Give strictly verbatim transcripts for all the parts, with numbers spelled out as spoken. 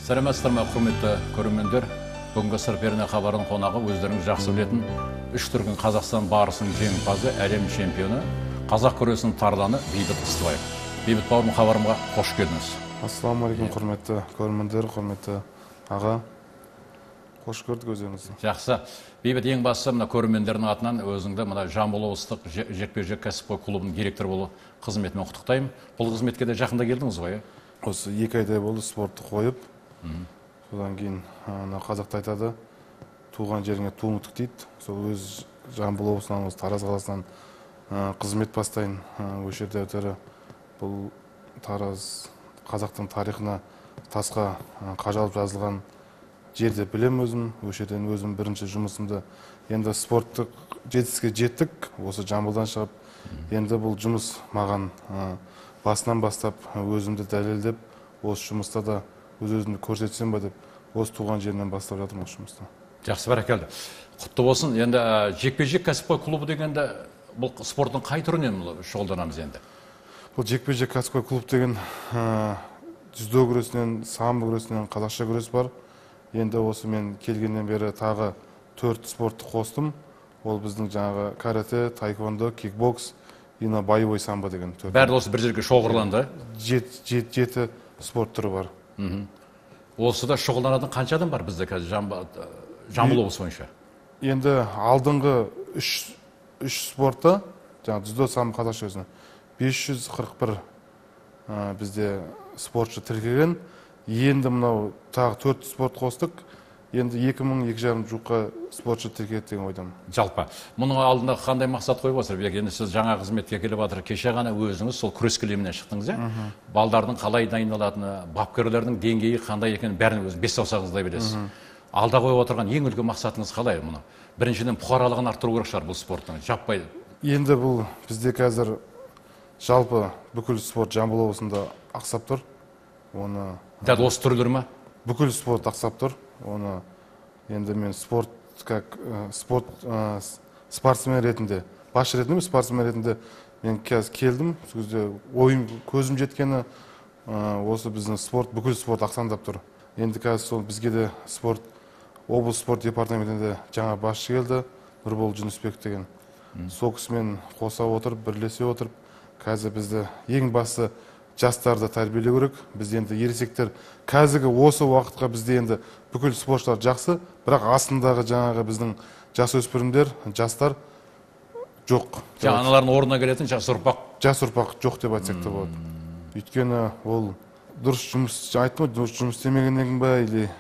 Сәлеметсіздер ме, құрметті көрермендер. Бүгінгі сыр перне хабарының қонағы өздеріңіз жақсы білетін үш дүркін Қазақстан барысының жеңімпазы, әлем чемпионы, қазақ күресінің тарланы Бейбіт Ыстыбаев. Бейбіт бауырым, хабарымға қош келдіңіз. Ассалаумағалейкум, құрметті көрермендер, құрметті аға. Қош көрдік өздеріңізді. Жақсы. Бейбіт, ең бастысы мына көрермендердің атынан өзіңді мына Жамбыл облыстық жекпе-жек кәсіпқой клубының директоры болу қызметімен құттықтаймын. Бұл қызметке де жақында келдіңіз ғой? Осы екі айдай болды спортты қойып. Содан кейін қазақта айтады, туған жеріңе туың тік дейді. Сол өз Жамбыл облысынан, Тараз қаласынан қызмет бастайын. Осы жерде өтері бұл Тараз қазақтың тарихына тасқа қажалып жазылған жерде білем өзім. Осы жерден өзім бірінші жұмысымды енді спорттық жетістікке жеттік. Осы Жамбылдан шығып, енді бұл жұмыс маған басынан бастап өзімді дәлелдеп, осы жұмыста да өз-өзімді көрсетсем ба деп, осы туған жерінен бастап жатырмын осы жұмыста. Жақсы, бәрекелді. Құтты болсын. Енді жекпе-жек кәсіпқой клубы дегенде бұл спорттың қай түрінен шұғылданамыз енді? Бұл жекпе-жек кәсіпқой клуб деген дзюдо күресінен, самбо күресінен, қазақша күрес бар. Енді осы мен келгеннен бері тағы төрт спортты қостым. Ол біздің жаңағы карате, таеквондо, кикбокс, ина боевой самбо деген төрт. Бәрі осы бір жерге шоғырланды? Жеті спорт түрі бар. Осы да шұғылданатын қанша адам бар бізде қазір Жамбыл облысы бойынша? Енді алдыңғы үш спортта, жаңағы дзюдо, самбо, қазақша күресінен бес жүз қырық бір бізде спортшы тіркелген. Енді мынау тағы төрт спорт қостық. Енді екі мың екі жарым жуыққа спортшы тіркеледі деген ойдамын. Жалпы, мұның алдында қандай мақсат қойып отырсыз? Енді сіз жаңа қызметке келіп жатыр, кеше ғана өзіңіз сол күрес кілемінен шықтыңыз, иә? Балдардың қалай дайындалатыны, бапкерлердің деңгейі қандай екенін бәрін өзіңіз бес саусағыңыздай білесіз. Алда қойып отырған ең үлкен мақсатыңыз қалай мұны? Біріншіден бұқаралығын арттыру керек шығар бұл спорттың, жаппай. Енді бұл бізде қазір жалпы бүкіл спорт Жамбыл облысында ақсап тұр. Оны дәл осы түрлер ме? Бүкіл спорт ақсап тұр. Оны енді мен спорт как спорт спортсмен ретінде, басшы ретінде, спортсмен ретінде мен қазір келдім. Сол кезде ойым көзім жеткені осы біздің спорт, бүкіл спорт ақсаңдап тұр. Енді қазір сол бізге де спорт облыс спорт департаментінде жаңа басшы келді, Нұрбол Жүнісбек деген. Сол кісімен қоса отырып, бірлесе отырып, қазір бізді ең басты жастарды тәрбиелеу керек. Біз енді ересектер қазіргі осы уақытқа бізде енді бүкіл спортшылар жақсы, бірақ астындағы жаңағы біздің жасөспірімдер, жастар жоқ. Аналардың орнына келетін жас ұрпақ. Жас ұрпақ жоқ деп айтсақ та болады. Өйткені ол дұрыс жұмыс айттым, дұрыс жұмыс істемегеннен ба, или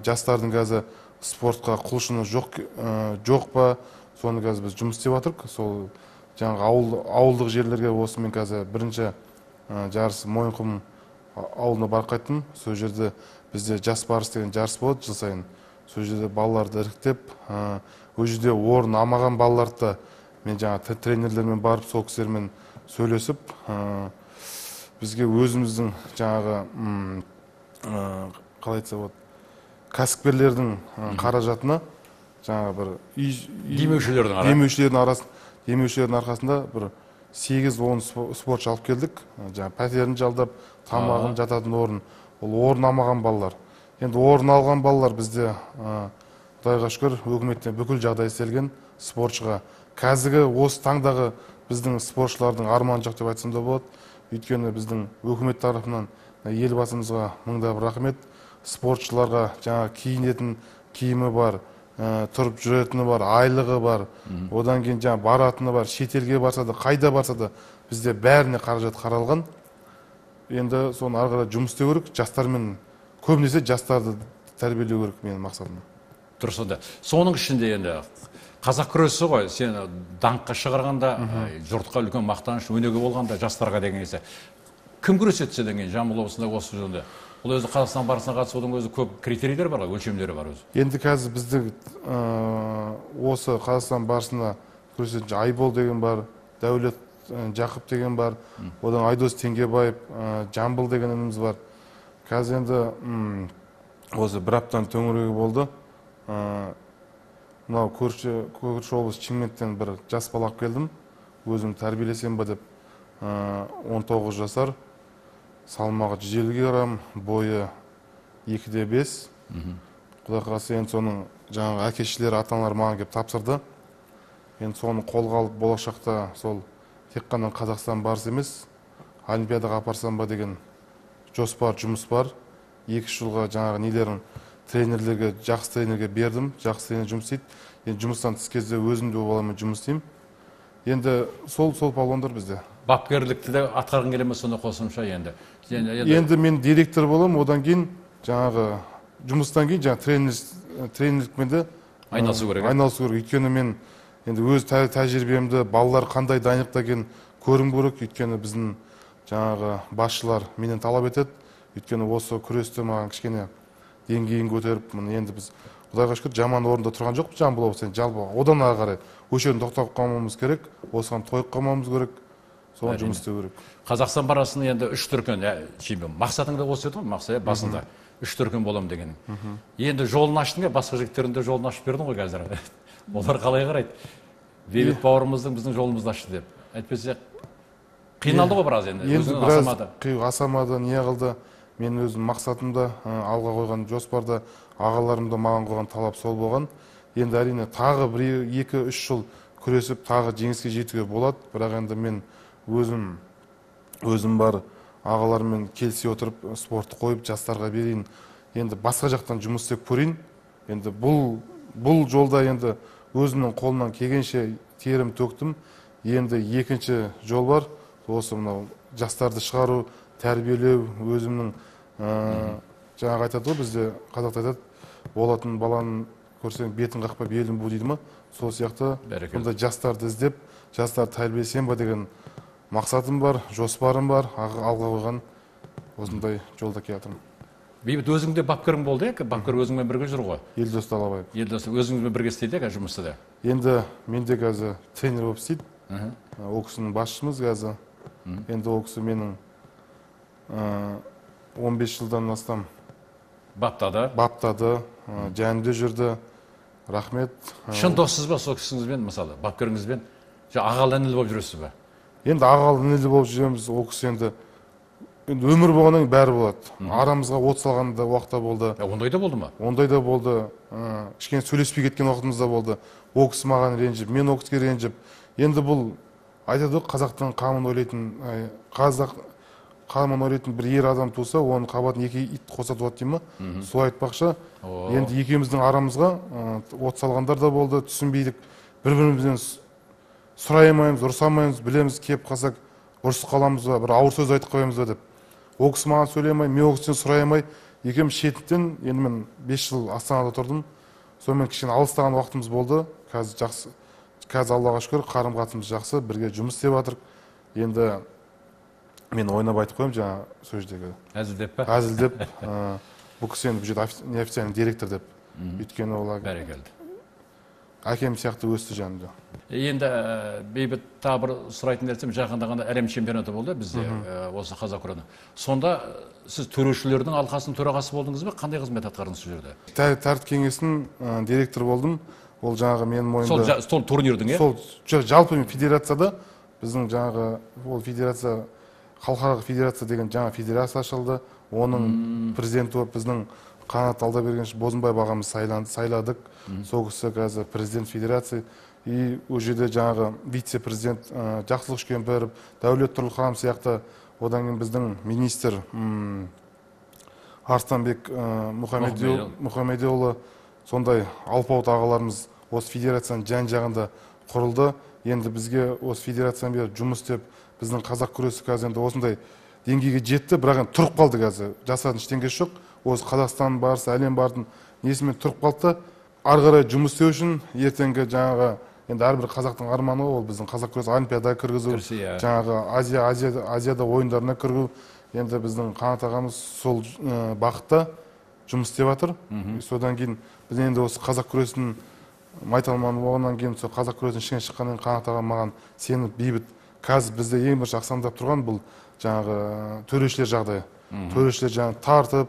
жастардың қазір спортқа құлшыны жоқ па, соны қазір біз жұмыс істеп жатырмық. Сол жаңағы ауылдық жерлерге осы мен қазір бірінші жарыс Мойынқұм ауылына барып қайттым. Сол жерде бізде жас барыс деген жарыс болады жыл сайын. Сол жерде балаларды іріктеп, ол жерде орын алмаған балаларды мен жаңа тренерлермен барып, сол кісілермен сөйлесіп, бізге өзіміздің жаңағы қалай айтса болады, кәсіпкерлердің қаражатына жаңағы бір демеушілердің арқасында бір сегіз он спортшы алып келдік. Жаңа пәтерін жалдап, тамағын, жататын орын. Ол орын алмаған балалар. Енді орын алған балалар бізде Құдайға шүкір өкіметтен бүкіл жағдай істелген спортшыға. Қазіргі осы таңдағы біздің спортшылардың арманы жоқ деп айтсам да болады. Өйткені біздің өкімет тарапынан елбасымызға мыңда бір рахмет. Спортшыларға жаңа киінетін киімі бар, тұрып жүретіні бар, айлығы бар, одан кейін жаңа баратыны бар, шетелге барса да, қайда барса да бізде бәріне қаражат қаралған. Енді соны ары қарай жұмыс істеу керек, жастармен, көбінесе жастарды тәрбиелеу керек менің мақсатым. Дұрыс онда. Соның ішінде енді қазақ күресі ғой, сен даңққа шығарғанда, жұртқа үлкен мақтаныш, өнеге болғанда жастарға деген есе. Кім күреседі деген Жамбыл облысында осы жөнде? Бұл өзі Қазақстан барысына қатысудың өзі көп критерийлер бар, өлшемдері бар өзі. Енді қазір бізді осы Қазақстан барысына күресетін Айбол деген бар, Дәулет Жақып деген бар, одан Айдос Теңгебаев, Жамбыл деген ініміз бар. Қазір енді осы бір аптаның төңірегі болды. Мынау көрші облыс Шымкенттен бір жас бала алып келдім. Өзім тәрбиелесем ба деп, он тоғыз жасар. Салмағы жүз елу грамм, бойы екіде бес. Құдай қаласа енді соның жаңағы әке-шешелері, ата-аналары маған келіп тапсырды. Енді соны қолға алып болашақта сол тек қана Қазақстан барыс емес, Олимпиадаға апарсам ба деген жоспар, жұмыс бар. Екі жылға жаңағы нелерін тренерлерге, жақсы тренерге бердім, жақсы тренер жұмыс істейді. Енді жұмыстан тыс кезде өзім де баламен жұмыс істеймін. Енді сол сол палуандар бізде. Бапкерлікті де атқарғың келе ме сонда қосымша енді? Енді мен директор боламын, одан кейін жаңағы жұмыстан кейін жаңағы тренерлікпен де айналысу керек. Айналысу керек. Өйткені мен енді өз тәжірибемді балалар қандай дайындықта екенін көрім керек. Өйткені біздің жаңағы басшылар менен талап етеді. Өйткені осы күресте маған кішкене деңгейін көтеріп, енді біз Құдайға шүкір жаман орында тұрған жоқпыз, жамбыл облысында жалпы одан ары қарай осы жерін тоқтап қалмауымыз керек, осыған тойып қалмауымыз керек, соған жұмыс істеу керек. Қазақстан барасын енді үш дүркін чемпион. Мақсатың да осы еді ғой, мақсат басында үш дүркін боламын дегенің. Енді жолын аштың ба, басқа жігіттердің де жолын ашып бердің ғой қазір. Олар қалай қарайды? Бейбіт бауырымыздың біздің жолымызды ашты деп. Әйтпесе қиналды ғой біраз енді. Енді біраз асамады, не қылды. Мен өзім мақсатымда, алға қойған жоспарда, ағаларымда маған қойған талап сол болған. Енді әрине тағы бір екі үш жыл күресіп, тағы жеңіске жетуге болады. Бірақ енді мен өзім өзім бар ағаларыммен келісе отырып спортты қойып жастарға берейін. Енді басқа жақтан жұмыс істеп көрейін. Енді бұл бұл жолда енді өзімнің қолымнан келгенше терім төктім. Енді екінші жол бар. Осы мынау жастарды шығару, тәрбиелеу, өзімнің жаңағы айтады ғой, бізде қазақта айтады, болатын баланың көрсең бетін қақпа белін бу дейді ма? Сол сияқты бұндай жастарды іздеп, жастарды тәрбиелесем ба деген мақсатым бар, жоспарым бар, алға қойған осындай жолда келе жатырмын. Бейбіт, өзіңде бапкерің болды, бапкер өзіңмен бірге жүр ғой? Елдос Далабаев. Елдос, өзіңізбен бірге істейді қазір жұмыста да? Енді менде қазір тренер болып істейді. Ол кісінің басшымыз қазір. Енді ол кісі менің он бес жылдан астам баптады, баптады, жанымда жүрді. Рахмет. Шын доссыз ба сол кісіңізбен, мысалы, бапкеріңізбен? Ағалы інілі болып жүресіз ба? Енді ағалы інілі болып жүреміз. Ол кісі енді өмір болғаннан кейін бәрі болады. Арамызға от салған да уақытта болды. Ондай да болды ма? Ондай да болды. Кішкене сөйлеспей кеткен уақытымыз да болды. Ол кісі маған ренжіп, мен ол кісіге ренжіп. Енді бұл айтады ғой, қазақтың қамын ойлайтын, қазақ қамын ойлайтын бір ер адам туса, оның қабатын екі ит қоса туады деймін ма? Сол айтпақшы. Енді екеуміздің арамызға от салғандар да болды, түсінбейдік. Бір-бірімізден сұрай алмаймыз, ұрыса алмаймыз, білеміз, кеп қалсақ ұрысып қаламыз ба, бір ауыр сөз айтып қоямыз ба деп. Ол кісі маған сөйлей алмай, мен ол кісіден сұрай алмай, екеуміз шеттен, енді мен бес жыл Астанада тұрдым. Сонымен кішкене алыстаған уақытымыз болды. Қазір жақсы, қазір Аллаға шүкір, қарым-қатынымыз жақсы, бірге жұмыс істеп жатырмық. Енді мен ойнап айтып қоямын жаңа сол жердегі. Әзілдеп па? Әзілдеп. Бұл кісі енді бұл жерде неофициальный директор деп. Өйткені олар бәрекелді. Әкем сияқты өсті жанымда. Енді бейбіт тағы бір сұрайтын нәрсем, жақында ғана әлем чемпионаты болды бізде осы қазақ күресінен. Сонда сіз төрешілердің алқасының төрағасы болдыңыз ба? Қандай қызмет атқардыңыз сол жерде? Тәртіп кеңесінің директоры болдым. Ол жаңағы менің мойнымда. Сол турнирдің, е? Сол жалпы федерацияда біздің жаңағы ол федерация, халықаралық федерация деген жаңа федерация ашылды. Оның президенті біздің Қанат Алдабергенович Бозымбаев ағамыз сайладық. Сол кісі қазір президент федерации. И ол жерде жаңағы вице-президент Жақсылық Үшкемпіров, Дәулет Тұрлыханов сияқты, одан кейін біздің министр Арыстанбек Мұхамедиұлы, сондай алпауыт ағаларымыз осы федерацияның жан-жағында құрылды. Енді бізге осы федерацияның бері жұмыс істеп, біздің қазақ күресі қазір енді осындай деңгейге жетті, бірақ енді тұрып қалды қазір. Жасатын ештеңесі жоқ. Осы Қазақстан барысы, әлем бардың несімен тұрып қалды. Ары қарай жұмыс істеу үшін ертеңгі жаңағы енді әрбір қазақтың арманы ол біздің қазақ күресі Олимпиадаға кіргізу, жаңағы Азия Азияда ойындарына кіргізу. Енді біздің Қанат ағамыз сол бағытта жұмыс істеп жатыр. Содан кейін біз енді осы қазақ күресінің майталманы болғаннан кейін сол қазақ күресінің ішінен шыққаннан Қанат ағам маған сеніп, бейбіт, қазір бізде ең бірінші ақсаңдап тұрған бұл жаңағы төрешілер жағдайы. Төрешілер жаңағы тартып,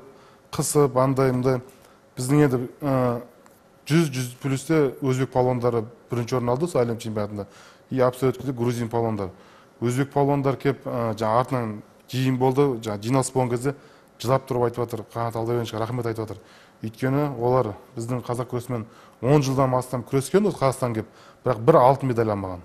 қысып, андайымды. Біздің енді жүз жүз плюсте өзбек палуандары бірінші орын алды сол әлем чемпионатында. И абсолютно грузин палуандар. Өзбек палуандар кеп жаңа артынан жиын болды, жаңа жиналыс болған кезде жылап тұрып айтып жатыр, Қанат Алдабергеновичке рахмет айтып жатыр. Өйткені олар біздің қазақ күресімен он жылдан астам күрескен, осы Қазақстан келіп, бірақ бір алтын медаль алмаған.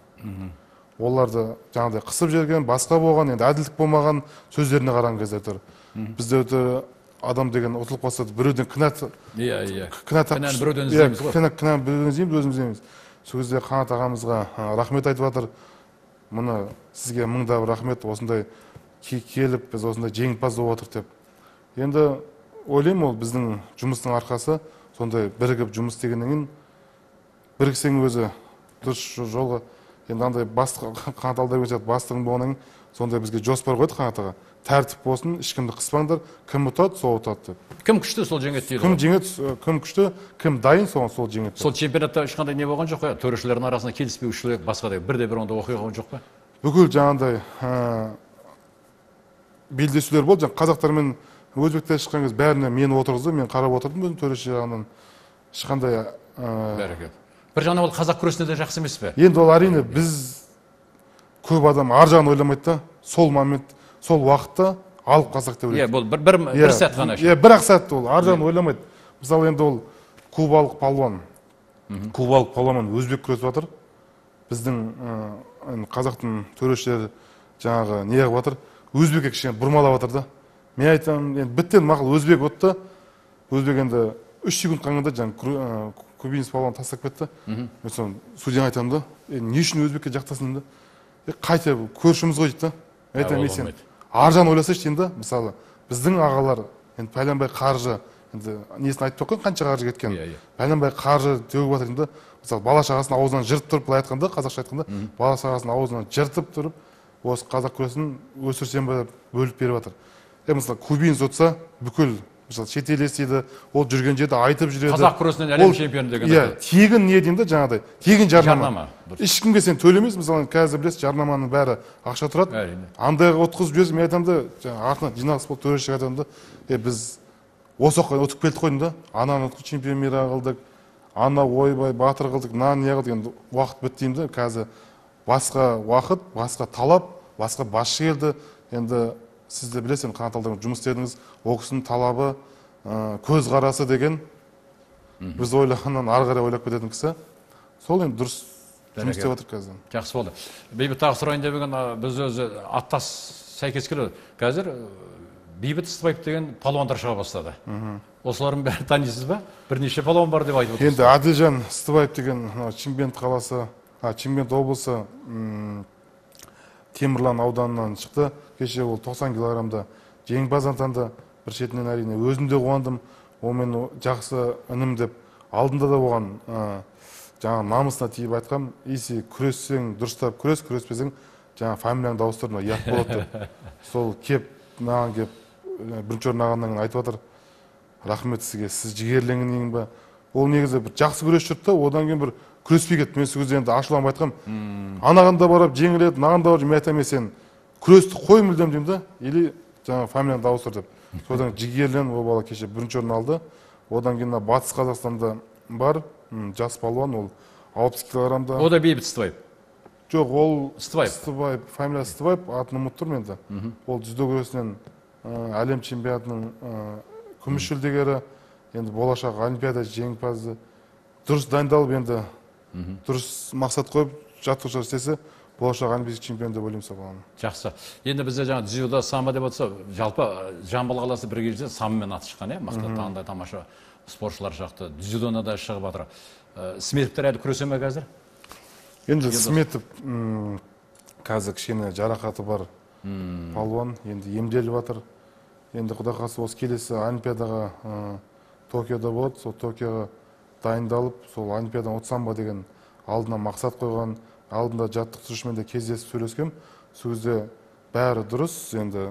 Оларды жаңағыдай қысып жерген, басқа болған, енді әділдік болмаған сөздеріне қараған кезде тұр. Бізде өте адам деген ұтылып қалса, біреуден кінәт Иә, иә. кінәні біреуден іздейміз ғой. Кінәні біреуден іздейміз, өзіміз іздейміз. Сол кезде Қанат ағамызға рахмет айтып жатыр. Мұны сізге мыңда бір рахмет, осындай келіп, біз осындай жеңімпаз болып отыр деп. Енді ойлаймын, ол біздің жұмыстың арқасы, сондай бірігіп жұмыс істегеннен кейін біріксең өзі дұрыс жолға. Енді андай Қанат Алдабергенович бастығың болғаннан кейін сондай бізге жоспар қойды Қанат аға. Тәртіп болсын, ешкімді қыспаңдар, кім ұтады, сол ұтады деп. Кім күшті, сол жеңеді дейді. Кім жеңеді, кім күшті, кім дайын, сол сол жеңеді. Сол чемпионатта ешқандай не болған жоқ қой? Төрешілердің арасында келіспеушілік, басқадай бірде-бір онда оқиға жоқ па? Бүкіл жаңағындай белдесулер болды. Қазақтармен өзбектер шыққан кезде бәріне мені отырғызды, мен қарап отырдым, өзім төреші жағынан ешқандай. Бәрекелді. Бір жағынан ол қазақ күресінде де жақсы емес пе? Енді ол әрине біз көп адам ар жағын ойламайды да, сол момент, сол уақытта алып қазақ деп ойлайды. Иә, бұл бір бір сәт ғана. Иә, бір ақ сәт ол, ар жағын ойламайды. Мысалы енді ол кубалық палуан, кубалық палуан өзбек күресіп жатыр. Біздің қазақтың төрешілері жаңағы не қылып жатыр, өзбекке кішкене бұрмалап жатыр да. Мен айтамын, енді біттен мақұл өзбек отты, өзбек енді үш секунд қалғанда жаңағы кубинец палуан тастап кетті. Мен соны судьяға айтамын да, не үшін өзбекке жақтасың да? Қайта көршіміз ғой дейді да. Айтамын, мен сен ар жағын ойласайшы деймін да. Мысалы, біздің ағалар, енді пәленбай қаржы, енді несін айтып тұрған, қанша қаржы кеткен. Пәленбай қаржы төгіп жатыр деймін да. Мысалы, бала шағасын аузынан жыртып тұрып, былай айтқанда, қазақша айтқанда, бала шағасын аузынан жыртып тұрып, осы қазақ күресін өсірсем бе бөліп беріп жатыр. Мысалы, кубинец отса, бүкіл мысалы шетел естиді, ол жүрген жерде айтып жүреді. Қазақ күресінен әлем чемпионы деген. Иә, тегін не деймін да, жаңағыдай, тегін жарнама. Ешкімге сен төлемейсің, мысалы қазір білесіз, жарнаманың бәрі ақша тұрады. Андайға отқызып жіберсің, мен айтамын да, жаңағы артынан жиналыс болып төрешіге айтамын да, е біз осы оққа өтіп келдік қойдым да, ананы чемпион мира қылдық, ана ойбай батыр қылдық, мынаны не қылдық, енді уақыт бітті деймін да, қазір басқа уақыт, басқа талап, басқа басшы келді. Енді сіз де білесіз, Қанат Алдабергенович жұмыс істедіңіз, ол кісінің талабы, көз қарасы деген біз ойлағаннан ары қарай ойлап кететін кісі. Сол енді дұрыс жұмыс істеп жатыр қазір. Жақсы болды. Бейбіт тағы сұрайын деп еген, біз өзі аттас сәйкес келеді. Қазір Бейбіт Ыстыбаев деген палуандар шыға бастады. Осылардың бәрін танисыз ба? Бірнеше палуан бар деп айтып отырсыз. Енді Әділжан Ыстыбаев деген Шымкент қаласы, Шымкент облысы Темірлан ауданынан шықты. Кеше ол тоқсан килограммда жеңімпаз атанды. Бір шетінен әрине өзім де қуандым. Ол мен жақсы інім деп алдында да оған жаңа намысына тиіп айтқам, есі күрессең дұрыстап күрес, күреспесең жаңа фамилияңды ауыстырма, ұят болады деп. Сол кеп маған кеп бірінші орын алғаннан кейін айтып жатыр, рахмет сізге, сіз жігерленгеннен ба. Ол негізі бір жақсы күрес жүрді да, одан кейін бір күреспей кетті. Мен сол кезде енді ашуланып айтқам, анағанда барып жеңіледі, мынағанда барып, мен айтамын, сен күресті қой мүлдем деймін да, или жаңа фамилияңды ауыстыр деп. Содан жігерлен ол бала кеше бірінші орын алды. Одан кейін Батыс Қазақстанда бар жас палуан, ол алпыс килограммда. О да Бейбіт Ыстыбаев. Жоқ, ол Ыстыбаев. Ыстыбаев, фамилиясы Ыстыбаев, атын ұмытып тұрмын енді. Ол дзюдо күресінен әлем чемпионатының күміс жүлдегері, енді болашақ олимпиада жеңімпазы. Дұрыс дайындалып, енді дұрыс мақсат қойып, жаттығушылар істесе, болашақ олимпийский чемпион деп ойлаймын соған. Жақсы. Енді бізде жаңа дзюдо, самбо деп отырса, жалпы Жамбыл қаласы бір кезде самбомен аты шыққан, иә, мықты таңдай тамаша спортшылар шақты. Дзюдоны да шығып жатыр. Сметовтер әлі күресе ме қазір? Енді Сметов қазір кішкене жарақаты бар палуан, енді емделіп жатыр. Енді құдай қаласа осы келесі олимпиадаға Токиода болады, сол Токиоға дайындалып, сол олимпиададан өтсем ба деген алдына мақсат қойған, алдында жаттықтырушымен де кездесіп сөйлескем. Сол кезде бәрі дұрыс, енді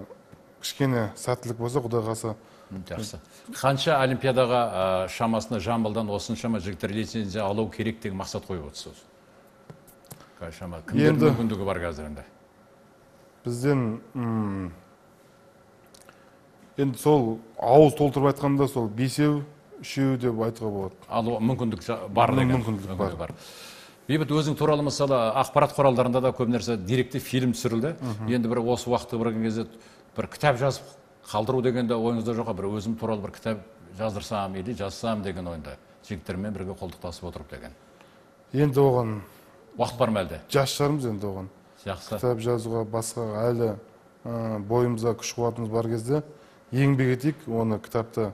кішкене сәттілік болса, құдай қаласа. Жақсы. Қанша олимпиадаға шамасында Жамбылдан осыншама жігіттер лицензия алу керек деген мақсат қойып отырсыз? Қаншама кімдердің мүмкіндігі бар қазір енді? Бізден енді сол ауыз толтырып айтқанда сол бесеу, үшеу деп айтуға болады. Алу мүмкіндік бар деген. Мүмкіндік бар. Бейбіт, өзің туралы мысалы ақпарат құралдарында да көп нәрсе деректі фильм түсірілді. Енді бір осы уақытта бір кезде бір кітап жазып қалдыру дегенде ойыңызда жоқ, бір өзім туралы бір кітап жаздырсам или жазсам деген ойында жігіттермен бірге қолтықтасып отырып деген. Енді оған Уақыт бар ма әлде? жас шығармыз енді оған. Жақсы. Кітап жазуға басқа әлі бойымызға күш қуатымыз бар кезде еңбек етейік, оны кітапты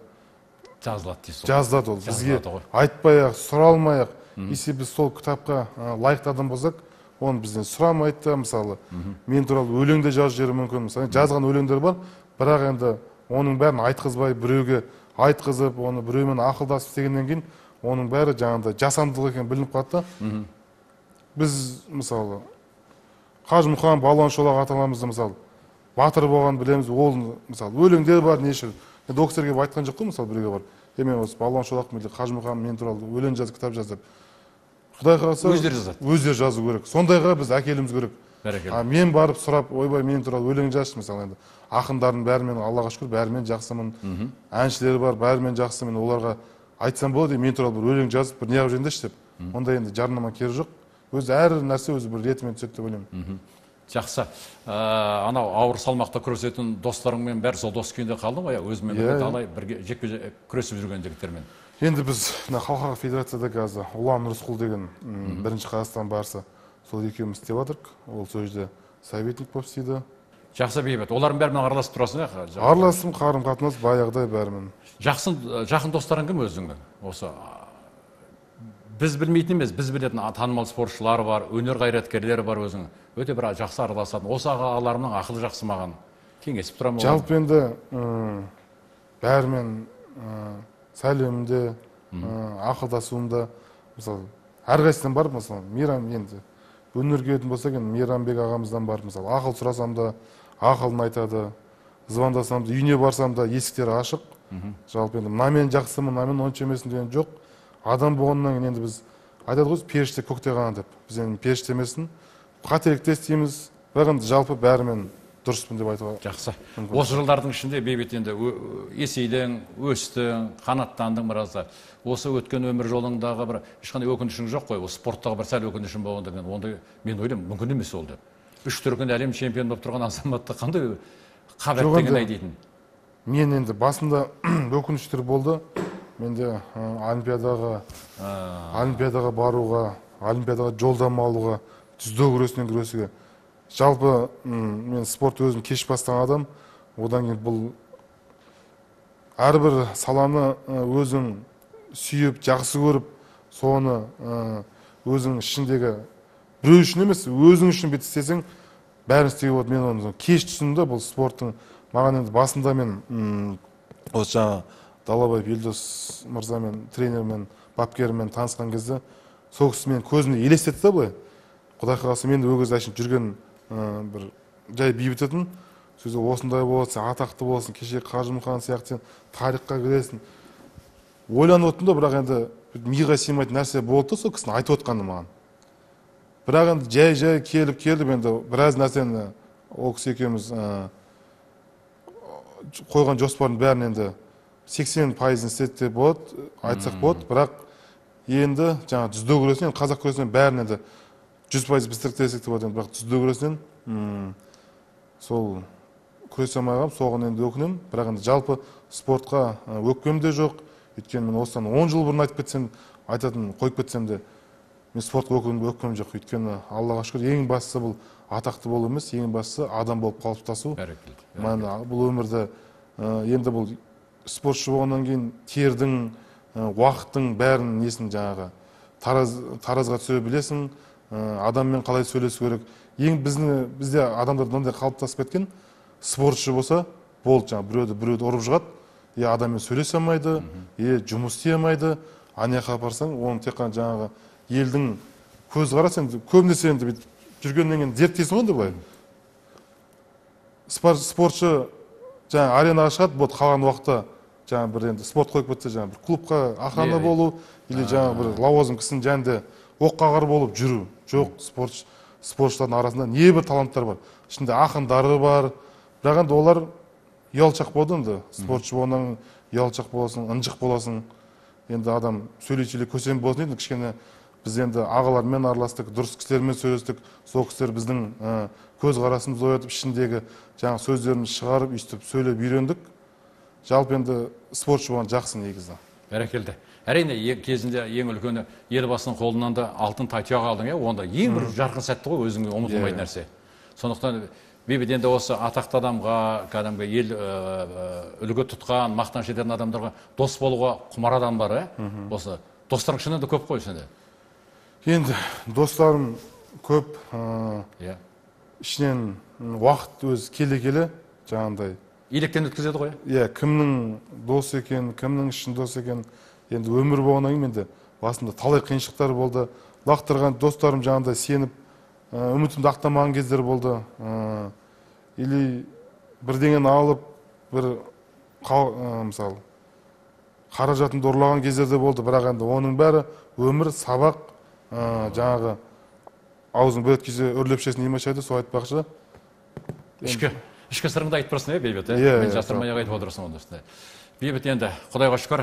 жазылады дейсіз. жазылады ол. Бізге айтпай-ақ, сұралмай-ақ, если біз сол кітапқа лайықты адам болсақ, оны бізден сұрамайды да, мысалы, мен туралы өлеңде жазып жіберуі мүмкін. Мысалы, жазған өлеңдер бар, бірақ енді оның бәрін айтқызбай, біреуге айтқызып, оны біреумен ақылдасып дегеннен кейін, оның бәрі жаңағыдай жасандылық екені білініп қалды да. Біз, мысалы, Қажымұқан, Балуан Шолақ аталарымызды, мысалы, батыр болған білеміз, ол, мысалы, өлеңдер бар, неше. Енді ол кісілерге айтқан жоқ қой, мысалы, біреуге бар. Е, мен осы Балуан Шолақ мен Қажымұқан мен туралы өлең жазып, кітап жазып. Құдай қаласа, өздері жазады. Өздері жазу керек. Сондайға біз әкелуіміз керек. Бәрекелді. Мен барып сұрап, ойбай, мен туралы өлең жазшы, мысалы, енді ақындардың бәрімен, Аллаға шүкір, бәрімен жақсымын. Әншілері бар, бәрімен жақсымын. Оларға айтсам болады, мен туралы бір өлең жазып, бір неғып жүріңдерші деп. Онда енді жарнама керегі жоқ. Өзі әр нәрсе өзі бір ретімен түседі деп ойлаймын. Жақсы. Анау ауыр салмақта күресетін достарыңмен бәрі сол дос күйінде қалды ма? Өзімен бірге талай бірге жекпе-жек күресіп жүрген жігіттермен. Енді біз халықаралық федерацияда қазір Ұлан Рысқұл деген бірінші Қазақстан барысы, сол екеуміз істеп жатырмық. Ол сол жерде советник болып істейді. Жақсы, бейбіт. Олардың бәрімен араласып тұрасың ба? Араласым, қарым-қатынас баяғыдай бәрімен. Жақын достарың кім өзіңнің? Осы біз білмейтін емес, біз білетін танымал спортшылар бар, өнер қайраткерлері бар өзің. Өте бір жақсы араласатын. Осы ағаларымның ақылы жақсы маған кеңесіп тұрамын. Жалпы енді бәрімен сәлемімде, ақылдасуымда, мысалы, әрқайсыдан бар, мысалы, Мейрам енді өнерге өтін болсақ, енді Мейрамбек ағамыздан бар, мысалы, ақыл сұрасам да, ақылын айтады, звондасам да, үйіне барсам да есіктері ашық. Жалпы енді мынамен жақсымын, мынамен онша емеспін деген жоқ. Адам болғаннан кейін енді біз айтады ғой, періште көкте ғана деп. Біз енді періште емеспін, қателікте істейміз, бірақ енді жалпы бәрімен дұрыспын деп айтуға. Жақсы. Осы жылдардың ішінде бейбіт енді есейдің, өстің, қанаттандың біразда. Осы өткен өмір жолыңдағы бір ешқандай өкінішің жоқ қой. Осы спорттағы бір сәл өкінішің болғандығын, онда мен ойлаймын, мүмкін емес ол деп. Үш дүркін әлем чемпионы болып тұрған азаматты қандай қабілеттеген айдайтын? Мен енді басында өкініштер болды. Менде олимпиадаға, олимпиадаға баруға, олимпиадаға жолдама алуға, жүзу күресінен күресуге. Жалпы мен спорт өзім кеш бастаған адам. Одан кейін бұл әрбір саланы өзің сүйіп, жақсы көріп, соны өзің ішіндегі біреу үшін емес, өзің үшін бет істесең, бәрін істеуге болады. Мен оны кеш түсіндім, бұл спорттың маған енді басында мен осы жаңа Далабаев Елдос мырзамен, тренермен, бапкермен танысқан кезде сол кісі мен көзіне елестетті да былай. Құдай қаласа мен де ол кезде әшейін жүрген бір жай бейбіт етін. Сөзі осындай болады, сен атақты боласың, кеше Қажымұқан сияқты сен тарихқа кіресің. Ойланып отырдым да, бірақ енді миға сыймайтын нәрсе болды сол кісінің айтып отқаны маған. Бірақ енді жай-жай келіп келіп енді біраз нәрсені ол кісі екеуміз қойған жоспардың бәрін енді сексен пайызын істеді деп болады, айтсақ болады, бірақ енді жаңа жүзу күресінен, қазақ күресінен бәрін енді жүз пайыз бістіріктесек деп болады, бірақ жүзу күресінен сол күресе алмай, соған енді өкінемін, бірақ енді жалпы спортқа өкпем де жоқ. Өйткені мен осыдан он жыл бұрын айтып кетсем, айтатын қойып кетсем де, мен спортқа өкпем жоқ. Өйткені Аллаға шүкір, ең бастысы бұл атақты болу емес, ең бастысы адам болып қалыптасу. Бұл өмірде енді бұл спортшы болғаннан кейін тердің, уақыттың бәрін несін жаңағы таразға түсіре білесің, адаммен қалай сөйлесу керек. Ең бізде адамдар мынандай қалыптасып кеткен, спортшы болса, болды жаңа біреуді біреуді ұрып жығады, е адаммен сөйлесе алмайды, е жұмыс істей алмайды, анаяққа апарсаң, оны тек қана жаңағы елдің көз қарасаң, көбінесе енді жүргеннен кейін зерттейсің ғой былай. Спортшы жаңа аренаға шығады, болды қалған уақытта жаңа бір енді спорт қойып кетсе, жаңа бір клубқа охрана болу, или жаңа бір лауазым кісінің жанында оққағар болып жүру. Жоқ, спортшылардың арасында не бір таланттар бар. Ішінде ақындары бар, бірақ енді олар ұялшақ болды енді. Спортшы болғаннан ұялшақ боласың, ынжық боласың. Енді адам сөйлей-сөйлей көсем болсын енді кішкене біз енді ағалармен араластық, дұрыс кісілермен сөйлестік. Сол кісілер біздің көз қарасымызды оятып, ішіндегі жаңа сөздерімізді шығарып, өйстіп сөйлеп үйрендік. Жалпы енді спортшы болған жақсы негізі. Бәрекелді. Әрине кезінде ең үлкені елбасының қолынан да алтын тайтұяқ алдың, онда ең бір жарқын сәтті ғой, өзіңе ұмытылмайтын нәрсе. Сондықтан бейбіт енді осы атақты адамға, кәдімгі ел үлгі тұтқан, мақтан ететін адамдарға дос болуға құмар адам бар, осы достарың шынында көп қой сенде. Енді достарым көп, ішінен уақыт өз келе-келе жаңағындай електен өткізеді ғой. Иә, кімнің дос екен, кімнің ішін дос екен, енді өмір болғаннан кейін менде басында талай қиыншылықтар болды. Лақтырған достарым жаңағындай сеніп, үмітімді ақтамаған кездер болды. Или бірдеңені алып, бір мысалы қаражатымды ұрлаған кездерде болды, бірақ енді оның бәрі өмір, сабақ, жаңағы аузын бір өткізсе үрлеп ішесің не машайды, сол айтпақшы. Ішкі Ішкі сырыңды айтып тұрсың, е, Бейбіт, мен жасырмай айтып отырсың онда. Бейбіт, енді Құдайға шүкір,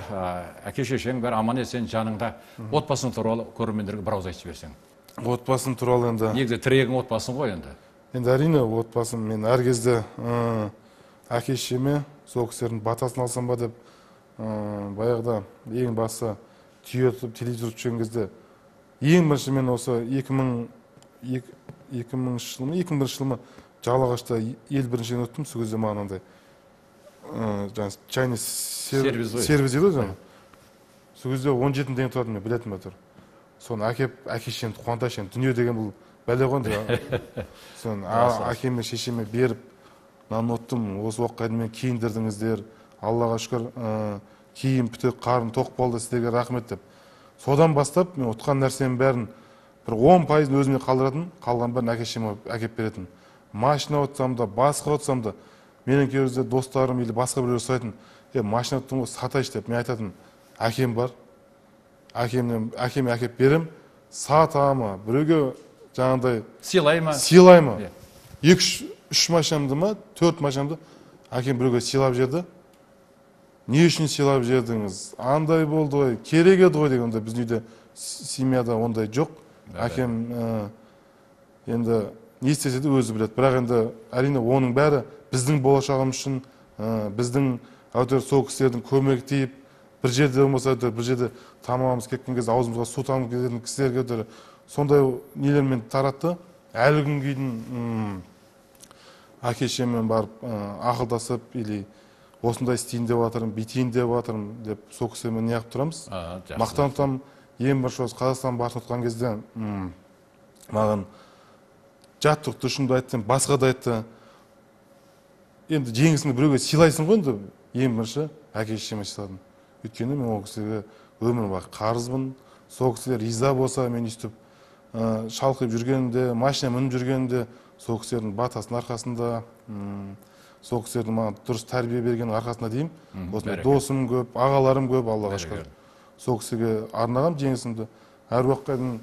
әке шешең бәрі аман есен жаныңда. Отбасың туралы көрермендерге бір ауыз айтып берсең. Отбасым туралы енді негізі тірегің отбасың ғой енді. Енді әрине отбасым, мен әр кезде әке шешеме сол кісілердің батасын алсам ба деп, баяғыда ең басы түйе тұтып телевизор жүрген кезде ең бірінші мен осы екі мыңыншы жылы ма екі мың бірінші жылы ма Жалағашта ел біріншіден өттім. Сол кезде маған андай чайный сервис еді ғой. Сол кезде он жеті мың теңге тұратын, мен білетін бе тұр. Соны әкеп, әке шешемді қуантайын, дүние деген бұл бәле ғой. Соны әкеме шешеме беріп, мынаны ұттым, осы уақытқа дейін мен киіндірдіңіздер, Аллаға шүкір, киім бүтек, қарым тоқ болды, сіздерге рахмет деп. Содан бастап мен ұтқан нәрсенің бәрін бір он пайызын өзіме қалдыратын, қалған бәрін әке шешеме әкеп беретін. Машина отсам да, басқа отсам да, менің кейбірде достарым или басқа біреулер сұрайтын, е, машина оттың ғой, сатайшы деп. Мен айтатын, әкем бар, әкеме әкеп берем, сатама, біреуге жаңағындай сыйлайма, сыйлайма. екі үш машинамды ма, төрт машинамды әкем біреуге сыйлап жерді. Не үшін сыйлап жердіңіз? Андай болды ғой, керек еді ғой дегенде, біздің үйде семьяда ондай жоқ. Әкем енді не істесе де өзі біледі. Бірақ енді әрине оның бәрі біздің болашағымыз үшін, біздің әйтеуір сол кісілердің көмегі тиіп, бір жерде болмаса әйтеуір бір жерде тамағымыз кеткен кезде аузымызға су тамып кететін кісілерге әйтеуір сондай нелермен таратты. Әлі күнге дейін әке шешеммен барып ақылдасып, или осындай істейін деп жатырмын, бүйтейін деп жатырмын деп сол кісілермен неғып тұрамыз. Мақтан тұтамын. Ең бірінші осы Қазақстан барысын ұтқан кезде маған жаттықты шынды айтты, басқа да айтты. Енді жеңісіңді біреуге сыйлайсың ғой, енді ең бірінші әке шешеме сыйладым. Өйткені мен ол кісіге өмір бақи қарызбын. Сол кісілер риза болса, мен өйстіп шалқып жүргенімде, машина мініп жүргенімде, сол кісілердің батасының арқасында, сол кісілердің маған дұрыс тәрбие берген арқасында деймін. Осындай досым көп, ағаларым көп, Аллаға шүкір. Сол кісіге арнағам жеңісімді. Әр уақытқа дейін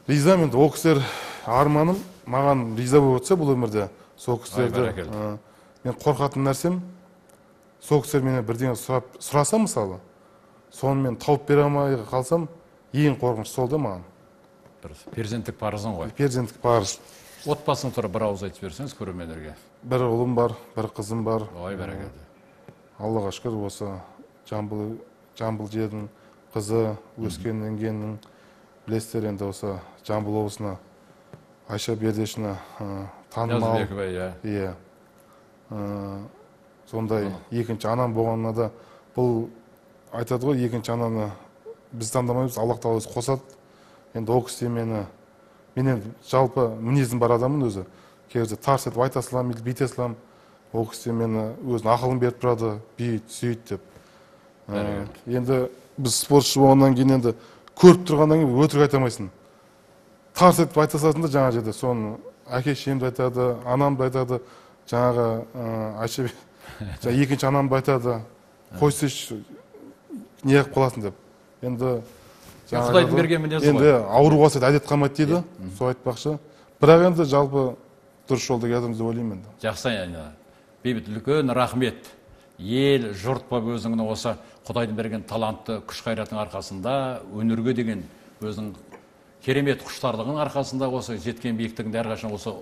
риза, мен ол кісілер арманым маған риза болып отырса бұл өмірде, сол кісілерді мен қорқатын нәрсем, сол кісілер мені бірдеңе сұраса мысалы, соны мен тауып бере алмай қалсам, ең қорқыныш сол да маған. Перзенттік парызың ғой. Перзенттік парыз. Отбасың туралы бір ауыз айтып берсеңіз көрермендерге. Бір ұлым бар, бір қызым бар. Ой, бәрекелді. Аллаға шүкір, осы Жамбыл жердің қызы, өскен енгеннің, білесіздер енді осы Жамбыл облысына Айша Бердешина танымал. Иә. Сондай екінші анам болғанына да, бұл айтады ғой, екінші ананы біз таңдамаймыз, Аллах тағала өзі қосады. Енді ол кісі мені, мен енді жалпы мінезім бар адамын өзі. Кейде тарс етіп айта салам, бүйте салам. Ол кісі мені өзінің ақылын беріп тұрады, бүйт, сөйт деп. Енді біз спортшы болғаннан кейін енді көріп тұрғаннан кейін өтірік айтамайсың. Тарс етіп айта саласың да жаңа жерде. Соны әке шешемді айтады, анамды айтады, жаңағы Айша екінші анамды айтады, қойсайшы, не қылып қаласың деп. Енді Құдайдың берген мінезі ғой. Енді ауру қалса әдет қалмайды дейді, сол айтпақшы. Бірақ енді жалпы дұрыс жолда келатырмыз деп ойлаймын енді. Жақсы, Бейбіт, үлкен рахмет. Ел, жұрт болып өзіңнің осы Құдайдың берген талантты күш қайратың арқасында өнерге деген өзінің керемет құштарлығының арқасында осы жеткен биіктігінде әрқашан осы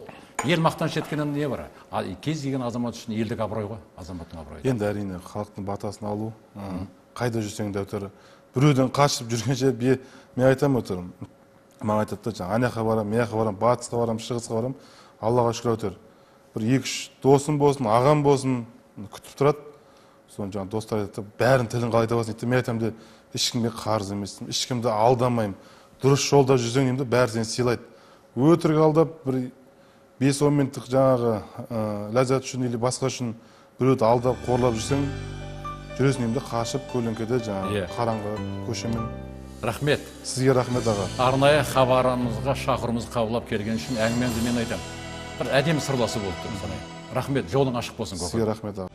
ел мақтаныш еткеннен не бар? А кез келген азамат үшін елдік абырой ғой, азаматтың абыройы. Енді әрине халықтың батасын алу, қайда жүрсең де өтір. Біреуден қашып жүргенше мен айтамын өтір. Маған айтады да, жаңа ана жаққа барам, мына жаққа барам, батысқа барам, шығысқа барам, Аллаға шүкір өтір. Бір екі-үш досым болсын, ағам болсын, күтіп тұрады. Соны жаңа достар айтады, бәрін тілін қалай табасың дейді. Мен айтамын да, ешкімге қарыз емеспін, ешкімді алдамаймын. Дұрыс жолда жүрсең деймін, бәрі сені сыйлайды. Өтірік алдап, бір бес он минуттық жаңағы ләззат үшін или басқа үшін біреуді алдап, қорлап жүрсең, жүресің деймін, қашып көлеңкеде жаңағы қараңғы көшемен. Рахмет. Сізге рахмет аға. Арнайы хабарымызға шақырымызды қабылдап келген үшін әңгімеңізді мен айтамын. Бір әдемі сырласы болып тұр. Рахмет, жолың ашық болсын. Сізге рахмет аға.